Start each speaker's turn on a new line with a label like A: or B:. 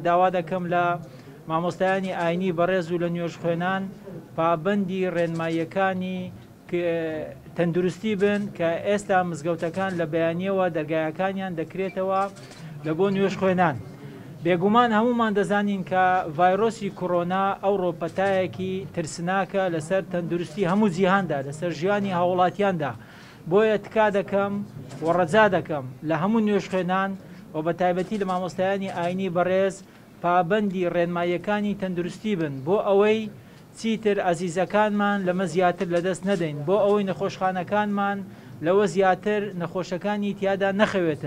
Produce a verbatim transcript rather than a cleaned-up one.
A: داوا دەکەم لە مامۆستایانی ئاینی بەڕێز و لە نوێژخوێنان پابەندی ڕێنماییەکانی تەندروستی بن کە ئێستا مزگەوتەکان لە بەیانیەوە دەرگایەکانیان دەکرێتەوە لە بۆ نوێژخوێنان. بێگومان هەمومان دەزانین کە ڤایرۆسی کۆرۆنا ئەوڕۆ پەتایەکی ترسناکە لەسەر تەندروستی هەموو جیهاندا، لەسەر ژیانی هاوڵاتیاندا. بۆیە تکا دەکەم و ڕەجا دەکەم لە هەموو نوێژخوێنان و بە تایبەتی لە مامۆستایانی ئاینی بەڕێز پابەندی ڕێنماییەکانی تەندروستی بن بۆ ئەوەی چیتر ئازیزەکانمان لەمە زیاتر لەدەست نەدەین، بۆ ئەوەی نەخۆشخانەکانمان لەوە زیاتر نەخۆشەکانی تیادا نەخەوێتن.